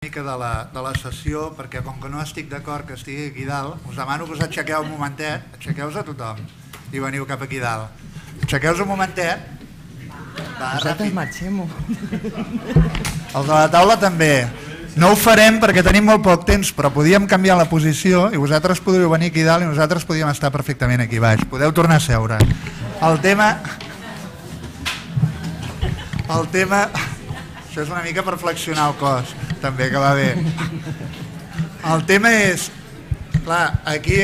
mica de la sessió, perquè com que no estic d'acord que estigui aquí dalt, us demano que us aixequeu un momentet, aixequeu-vos a tothom i veniu cap aquí dalt. Aixequeu-vos un momentet. Nosaltres marxem-ho. Els de la taula també. No ho farem perquè tenim molt poc temps, però podíem canviar la posició i vosaltres podríeu venir aquí dalt i nosaltres podíem estar perfectament aquí baix. Podeu tornar a seure. El tema... Això és una mica per flexionar el cos, també, que va bé. El tema és... Clar, aquí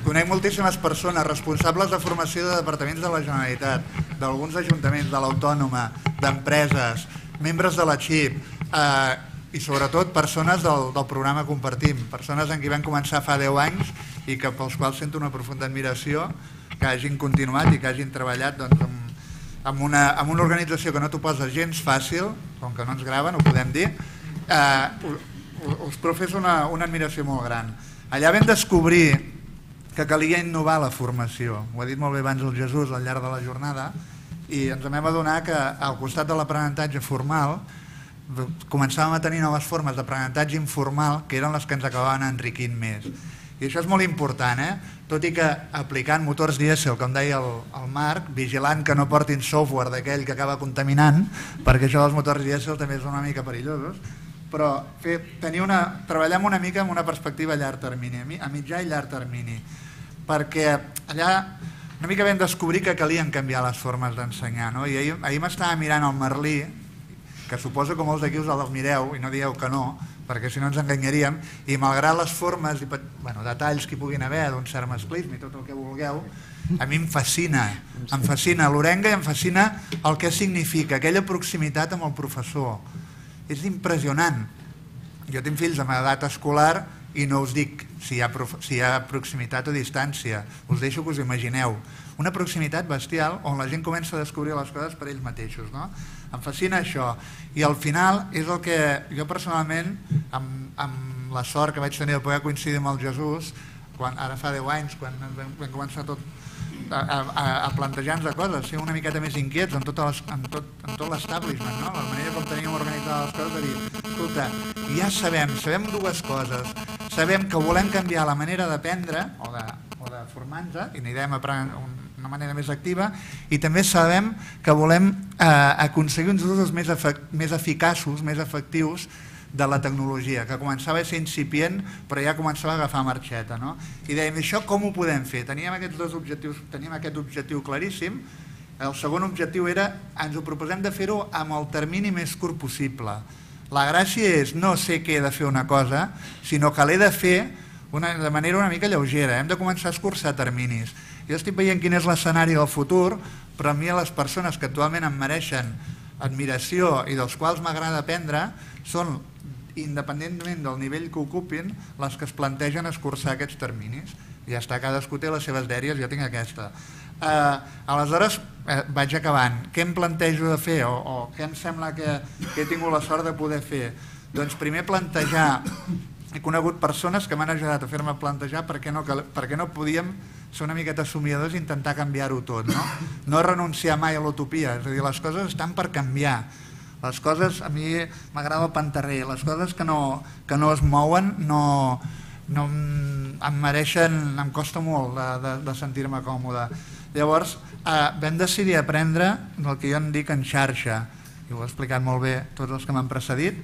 conec moltíssimes persones responsables de formació de departaments de la Generalitat, d'alguns ajuntaments, de l'Autònoma, d'empreses, membres de la XIP, i sobretot persones del programa Compartim, persones en qui vam començar fa 10 anys i que pels quals sento una profunda admiració, que hagin continuat i que hagin treballat amb una organització que no t'ho posa gens fàcil, com que no ens graven, ho podem dir, us professo una admiració molt gran. Allà vam descobrir que calia innovar la formació, ho ha dit molt bé abans el Jesús al llarg de la jornada, i ens vam adonar que al costat de l'aprenentatge formal començàvem a tenir noves formes d'aprenentatge informal que eren les que ens acabaven enriquint més. I això és molt important, tot i que aplicant motors dièsel, com deia el Marc, vigilant que no portin software d'aquell que acaba contaminant, perquè això dels motors dièsel també són una mica perillosos, però treballem una mica amb una perspectiva a llarg termini, a mitjà i llarg termini, perquè allà una mica vam descobrir que calien canviar les formes d'ensenyar, i ahir m'estava mirant el Merlí, que suposo que molts d'aquí us el mireu i no dieu que no, perquè si no ens enganyaríem, i malgrat les formes i detalls que hi puguin haver d'un cert masclisme i tot el que vulgueu, a mi em fascina l'orenga i em fascina el que significa aquella proximitat amb el professor. És impressionant. Jo tinc fills amb edat escolar i no us dic si hi ha proximitat o distància, us deixo que us imagineu. Una proximitat bestial on la gent comença a descobrir les coses per ells mateixos. Em fascina això. I al final és el que jo personalment, amb la sort que vaig tenir de poder coincidir amb el Jesús, ara fa 10 anys, quan vam començar tot a plantejar-nos coses, ser una miqueta més inquiets en tot l'establishment, la manera com teníem organitzades les coses, de dir, escolta, ja sabem dues coses, sabem que volem canviar la manera d'aprendre o de formar-nos i n'anirem aprendre d'una manera més activa, i també sabem que volem aconseguir uns usos més eficaços, més efectius de la tecnologia, que començava a ser incipient però ja començava a agafar marxeta. I dèiem, això com ho podem fer? Teníem aquests dos objectius, teníem aquest objectiu claríssim. El segon objectiu era, ens ho proposem de fer-ho amb el termini més curt possible. La gràcia és no sé què he de fer una cosa, sinó que l'he de fer de manera una mica lleugera. Hem de començar a escurçar terminis. Jo estic veient quin és l'escenari del futur, però a mi les persones que actualment em mereixen admiració i dels quals m'agrada aprendre són, independentment del nivell que ocupin, les que es plantegen escurçar aquests terminis. Ja està, cadascú té les seves dèries, jo tinc aquesta. Aleshores, vaig acabant. Què em plantejo de fer o què em sembla que he tingut la sort de poder fer? Doncs primer plantejar. He conegut persones que m'han ajudat a fer-me plantejar per què no podíem ser una miqueta somiadors i intentar canviar-ho tot. No renunciar mai a l'utopia, és a dir, les coses estan per canviar. Les coses, a mi m'agrada el panterrer, les coses que no es mouen em mereixen, em costa molt de sentir-me còmode. Llavors vam decidir aprendre el que jo en dic en xarxa, i ho he explicat molt bé tots els que m'han precedit,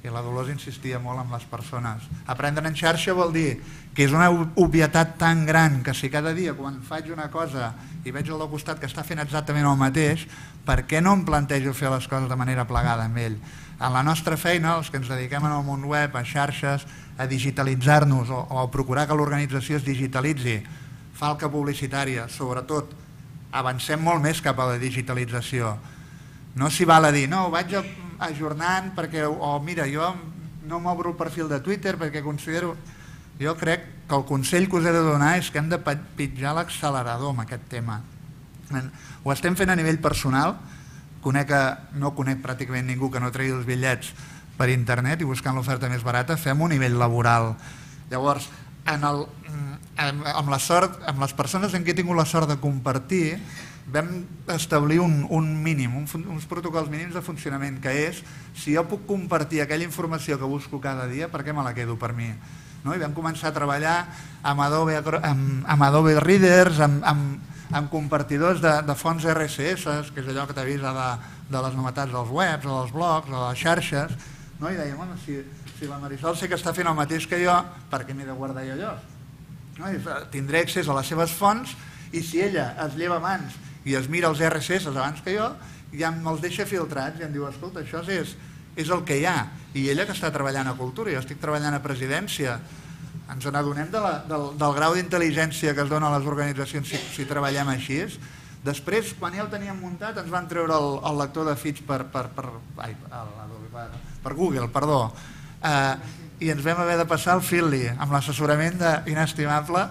i la Dolors insistia molt amb les persones. Aprendre en xarxa vol dir que és una obvietat tan gran que si cada dia quan faig una cosa i veig el del costat que està fent exactament el mateix, per què no em plantejo fer les coses de manera plegada amb ell? En la nostra feina, els que ens dediquem al món web, a xarxes, a digitalitzar-nos o a procurar que l'organització es digitalitzi, falca publicitària, sobretot, avancem molt més cap a la digitalització. No s'hi val a dir, no, ho vaig ajornant perquè, o mira, jo no m'obro el perfil de Twitter perquè considero... Jo crec que el consell que us he de donar és que hem de pitjar l'accelerador amb aquest tema. Ho estem fent a nivell personal, no conec pràcticament ningú que no tregui els bitllets per internet i buscant l'oferta més barata, fem un nivell laboral. Llavors, amb les persones en què he tingut la sort de compartir, vam establir un mínim, uns protocols mínims de funcionament, que és, si jo puc compartir aquella informació que busco cada dia, per què me la quedo per mi? I vam començar a treballar amb Adobe Readers, amb compartidors de fonts RSS, que és allò que t'avisa de les novetats dels webs, o dels blogs, o de les xarxes, i dèiem, bueno, si la Marisol sé que està fent el mateix que jo, per què m'he de guardar jo allò? Tindré accés a les seves fonts i si ella es lleva abans i es mira els RSS abans que jo, ja me'ls deixa filtrats i em diu, escolta, això és el que hi ha. I ella que està treballant a Cultura, jo estic treballant a Presidència, ens n'adonem del grau d'intel·ligència que es dona a les organitzacions si treballem així. Després, quan ja ho teníem muntat, ens van treure el lector de feeds per Google, perdó, i ens vam haver de passar al Feedly, amb l'assessorament inestimable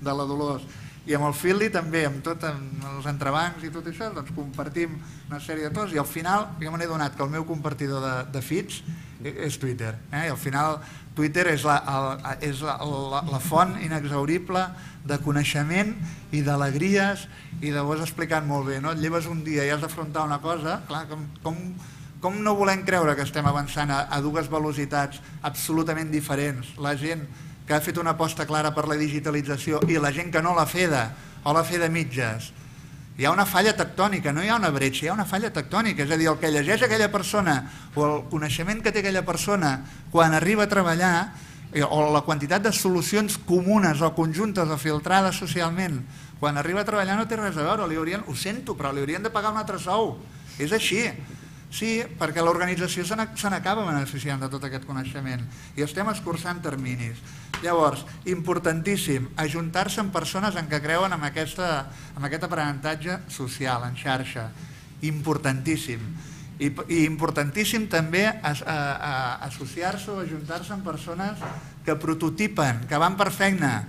de la Dolors. I amb el Feedly també, amb tots els entrebancs i tot això, doncs compartim una sèrie de coses i al final jo me n'he donat que el meu compartidor de feeds és Twitter. I al final Twitter és la font inexhaurible de coneixement i d'alegries i de vos explicant molt bé. Et lleves un dia i has d'afrontar una cosa, clar, com no volem creure que estem avançant a dues velocitats absolutament diferents? La gent que ha fet una aposta clara per la digitalització i la gent que no l'ha feta o l'ha fet de mitges. Hi ha una falla tectònica, no hi ha una bretxa, hi ha una falla tectònica. És a dir, el que llegeix aquella persona o el coneixement que té aquella persona quan arriba a treballar o la quantitat de solucions comunes o conjuntes o filtrades socialment quan arriba a treballar no té res a veure. Ho sento, però li haurien de pagar un altre sou. És així. Sí, perquè l'organització se n'acaba beneficiant de tot aquest coneixement i estem escurçant terminis. Llavors, importantíssim, ajuntar-se amb persones en què creuen en aquest aprenentatge social, en xarxa. Importantíssim. I importantíssim també associar-se o ajuntar-se amb persones que prototipen, que van per feina,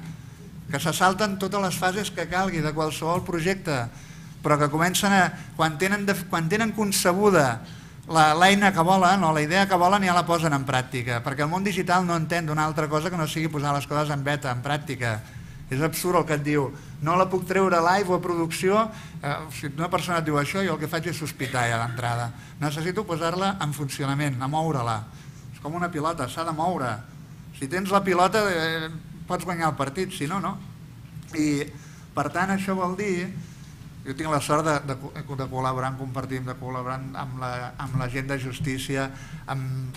que se salten totes les fases que calgui de qualsevol projecte, però que comencen quan tenen concebuda l'eina que volen o la idea que volen ja la posen en pràctica, perquè el món digital no entén d'una altra cosa que no sigui posar les coses en beta, en pràctica. És absurd el que et diu, no la puc treure a live o a producció, si una persona et diu això, jo el que faig és sospitar ja d'entrada. Necessito posar-la en funcionament, a moure-la. És com una pilota, s'ha de moure. Si tens la pilota pots guanyar el partit, si no, no. I per tant això vol dir, jo tinc la sort de col·laborar, compartim, de col·laborar amb la gent de justícia, amb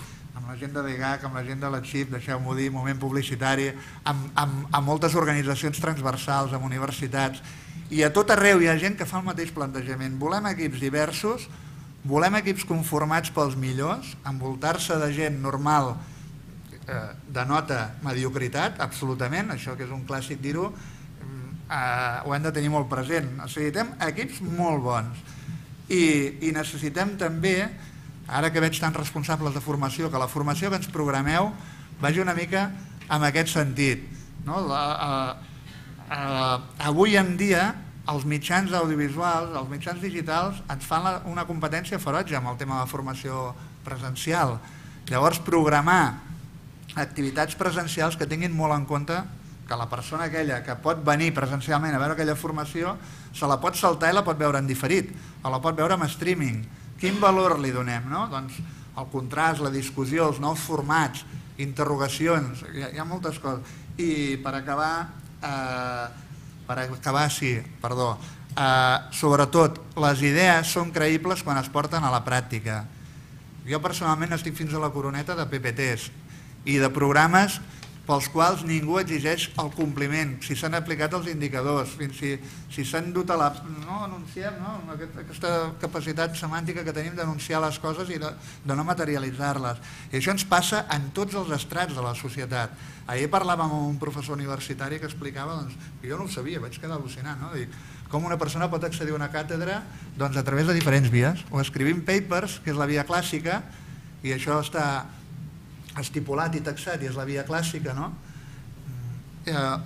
la gent de DGAC, amb la gent de la XIP, deixeu-m'ho dir, moment publicitari, amb moltes organitzacions transversals, amb universitats, i a tot arreu hi ha gent que fa el mateix plantejament. Volem equips diversos, volem equips conformats pels millors, envoltar-se de gent normal, denota mediocritat, absolutament, això que és un clàssic dir-ho, ho hem de tenir molt present. Necessitem equips molt bons i necessitem també, ara que veig tants responsables de formació, que la formació que ens programeu vagi una mica en aquest sentit. Avui en dia els mitjans audiovisuals, els mitjans digitals ens fan una competència ferotge amb el tema de la formació presencial. Llavors programar activitats presencials que tinguin molt en compte que la persona aquella que pot venir presencialment a veure aquella formació se la pot saltar i la pot veure en diferit o la pot veure en streaming. Quin valor li donem? Doncs el contrast, la discussió, els nous formats, interrogacions, hi ha moltes coses. I per acabar, sobretot, les idees són creïbles quan es porten a la pràctica. Jo personalment estic fins a la coroneta de PPTs i de programes pels quals ningú exigeix el compliment, si s'han aplicat els indicadors, si s'han dut a la... No, anunciem, aquesta capacitat semàntica que tenim d'anunciar les coses i de no materialitzar-les. I això ens passa en tots els estrats de la societat. Ahir parlàvem amb un professor universitari que explicava, jo no ho sabia, vaig quedar al·lucinant, com una persona pot accedir a una càtedra a través de diferents vies, o escrivint papers, que és la via clàssica, i això està estipulat i taxat i és la via clàssica,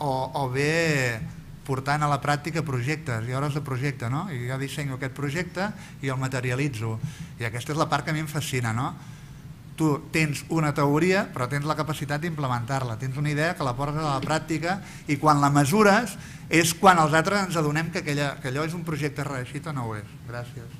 o bé portant a la pràctica projectes i hores de projecte, i jo dissenyo aquest projecte i el materialitzo, i aquesta és la part que a mi em fascina, tu tens una teoria però tens la capacitat d'implementar-la, tens una idea que la portes a la pràctica i quan la mesures és quan els altres ens adonem que allò és un projecte reeixit o no ho és. Gràcies.